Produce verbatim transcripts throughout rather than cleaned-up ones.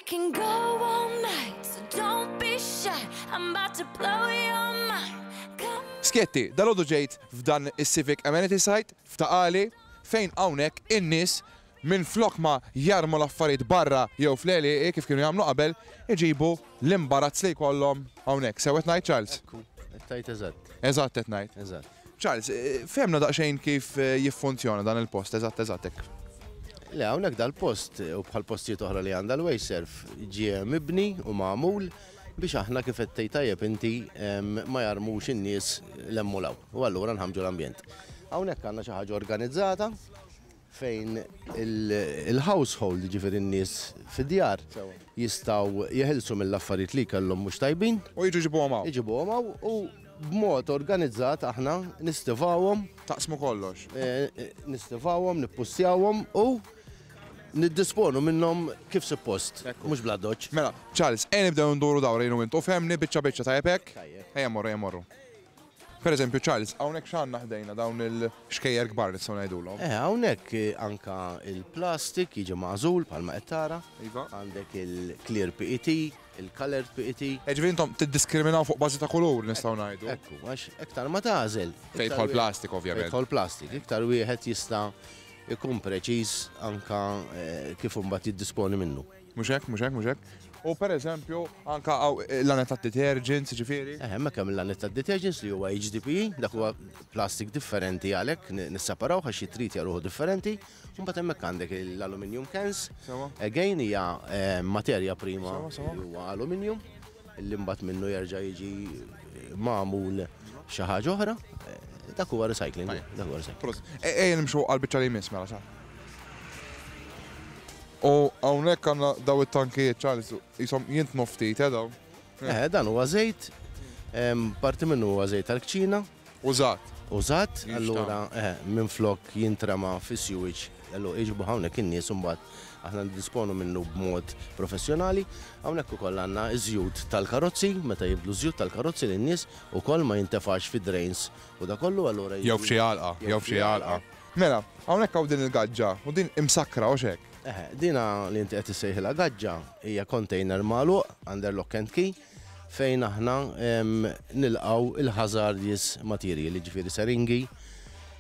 can go all night, so don't be shy. I'm about to blow your mind. Come Skjetti, dalgħodu ġejt f'dan is-Civic Amenity Site f'Ta' Qali, fejn hawnhekk in-nies minn flok ma jarmu l-affarijiet barra jew fl-għelieqi kif kienu jagħmlu qabel, iġibu l-imbarazz li jkollhom hawnhekk. Sewwa ngħid, Charles? Tajt eżatt. Eżatt qed ngħid. Eżatt. Charles, eh, fehmna daqsxejn kif eh, jiffunzjona dan il-post, eżatt eżatt hekk. Le, hawnhekk dal-post u bħal postijiet oħra li għandha l-WasteServ ġie mibni u magħmul biex aħna, kif qed tgħid tajjeb inti, em, ma jarmux in-nies l-emmulaw. U allura nħamġu l-ambjent. Hawnhekk għandna xi ħaġa organizzata fejn il- il-household, ġifieri n-nies fid-djar, jistgħu jeħilsu mill-affarijiet li kellhom mhux tajbin. U jiġu jġibuhom hawn. Iġibuhom hawn u b'mod organizzat aħna nistivawhom. Taqsmu kollox. eh, eh, Nistivawhom, nippustjawhom u niddisponu minnhom kif suppost, mhux bla doċ. Mela, Charles, ejja nibdew nduru dawra jien u int u fehmni biċċa biċċa, tajjeb hekk? Tajjeb. Ejja mmorru, ejja mmorru. Per eżempju, Charles, hawnhekk x'għandna ħdejna dawn il-xkejjer kbar, nistgħu ngħidulhom? Eh, hawnhekk eh, anka il-plastik jiġi magħżul bħalma qed tara. Iva. Għandek il-clear P E T, il-colored P E T. Ġifieri intom tiddiskriminaw fuq bażi ta' kulur, nistgħu ngħidu. Ekku, għax iktar ma tagħżel. Fejn iktar jidħol wieħed- plastik, ovvjament. Fejn jidħol plastik, iktar wieħed jista' ikun preċiż anka eh, kif imbagħad jiddisponi minnu. Mhux hekk, mhux hekk, mhux hekk. U per eżempju, anka hawn l-lanet ta' detergents, ġifieri. Eh, hemmhekk hemm il-lanet ta' detergents li huwa H D P E, dak huwa plastik differenti, għalhekk ni- nisseparaw għax jitritja ruħu differenti. Mbagħad hemmhekk għandek l-aluminium cans. Sewa. Again hija eh, materja prima Sewa, sewa. li huwa aluminium, li mbagħad minnu jerġa' jiġi magħmul xi ħaġa oħra. Eh, Dak huwa recycling, dak huwa recycling. Prosit. Ejja nimxu għal-biċċa li jmiss mela sa. U hawnhekk għandna daw it-tankijiet, Charles, jisom jintnu ftit, eh, daw. Eh, dan huwa żejt, em, parti minnu huwa żejt tal-kċina. Użat. Użat, Jinxtara. allura eh, minn flok jintrema fi sewage, allura iġibu hawnhekk in-nies, imbagħad aħna niddisponu minnu b'mod professjonali. Hawnhekk ukoll għandna iż-żjut tal-karozzi, meta jibdlu żjut tal-karozzi lin-nies ukoll ma jintefax fi drains u da kollu, allura Jew f'xi għalqa, jew f'xi għalqa. Mela, hawnhekk hawn din il-gaġġa u din imsakra u xek. Eh, dina li inti qed issejħilha gaġġa hija container magħluq under lock and key fejn aħna em, nilqaw il-hazardous material, ġifieri seringi,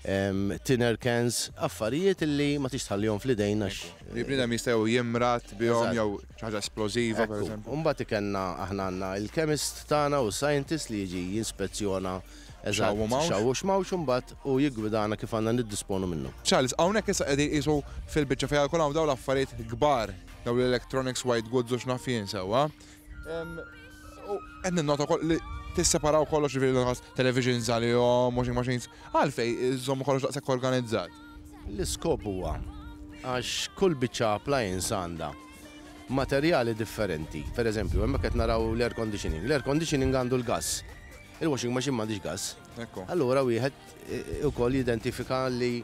em, thinner cans, affarijiet li ma tix tħallihom fl-idejn għax Li bniedem jistgħu jimrad bihom Eżatt. jew xi ħaġa esplożiva, per eżempju. Umbagħad ikenna aħna għandna il-chemist tagħna u scientist li jiġi jinspezzjona eżatt X'hawn u m'hawnx. x'hawn u x'm'hawnx imbagħad u jiggwidana kif għandna niddisponu minnu. Charles, hawnhekk issa qegħdin qisu fil-biċċa fejn jkun hawn dawn l-affarijiet kbar, dawn l-electronics, white goods u x'naf jien, sewwa. Em, U qed ninnota wkoll li tisseparaw kollox, ġifieri lanqas televisions għalihom, washing machines, għalfejn iżommu kollox daqshekk organizzat? L-iskop huwa għax kull biċċa appliance għandha materjali differenti. Per eżempju, hemmhekk qed naraw l-air conditioning. L-air conditioning għandu l-gas. Il-washing machine m'għandix gas. Ekku. Allura wieħed eh, ukoll jidentifika li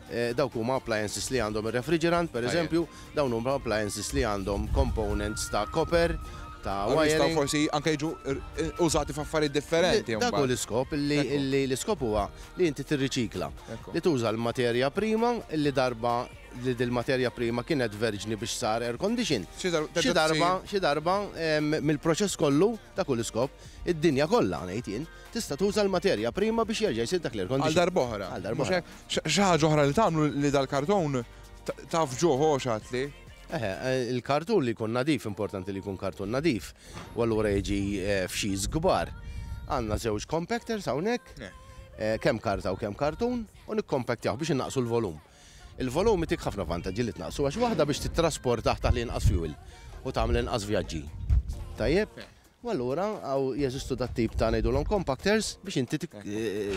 eh, dawk huma appliances li għandhom ir-refrigerant, per Tajjeb. eżempju, dawn huma appliances li għandhom components ta' copper, ta' Jistgħu wiring. forsi anke jiġu użati f'affarijiet differenti. Dak hu mbagħad. l-iskop, illi Ekku. illi l-iskop huwa li inti tirriċikla. Ekku. Li tuża l-materja prima illi darba li dil-materja prima kienet verġni biex sar air condition. Xi dar- Xi darba, xi darba em, mill-proċess kollu, dak hu l-iskop, id-dinja kollha, ngħid jien, tista' tuża l-materja prima biex jerġa' jsir dak l-air condition. Għal darb'oħra. Għal darb'oħra. Mhux hekk? Xi ħaġa oħra li tagħmlu li dal-karton ta- taf ġuħ xatli. Eħe, eh, il-kartun li jkun nadif, importanti li jkun kartun nadif, u allura jiġi eh, f'xis kbar. Għandna żewġ compactors hawnhekk, Ne. eh, kemm karta u kemm kartun, u nikkompaktjaw biex innaqsu l-volum. Il-volum itik ħafna vantaġġi li tnaqsu, għax waħda biex titrasporta taħt li inqas fuel u tagħmel inqas vjaġġi. Tajjeb? U allura hawn jeżistu dat tip ta' ngħidulhom compactors biex inti tik- eh,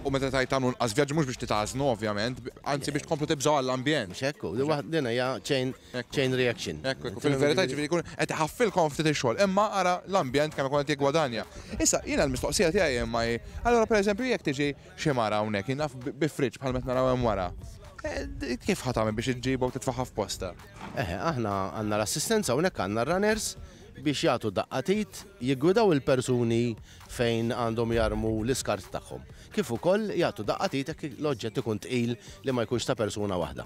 U meta tajt tagħmlu nqas vjaġġi, mhux biex titgħażnu ovvjament, anzi biex tkomplu tibżgħu għall-ambjent. Mhux hekk, di waħd- din hija chain Ekku. chain reaction. Ekku, ekku, fil-verità ġifieri jkun qed iħaffilkom ftit ix-xogħol, imma ara l-ambjent kemm ikun qed jiggwadanja. Issa jiena l-mistoqsija tiegħi imma hi, allura pereżempju jekk tiġi xi mara hawnhekk, jien naf bi fridge bħal meta naraw hemm wara. eh, d- Kif ħa tagħmel biex iġġibha u titfaħħa f'posta? Eħe, aħna għandna l-assistenza hawnhekk, għandna runners biex jagħtu daqqa t'id, jiggwidaw il-persuni fejn għandhom jarmu l-iskart tagħhom. Kif ukoll jagħtu daqqa t'id jekk l-oġġett ikun tqil li ma jkunx ta' persuna waħda.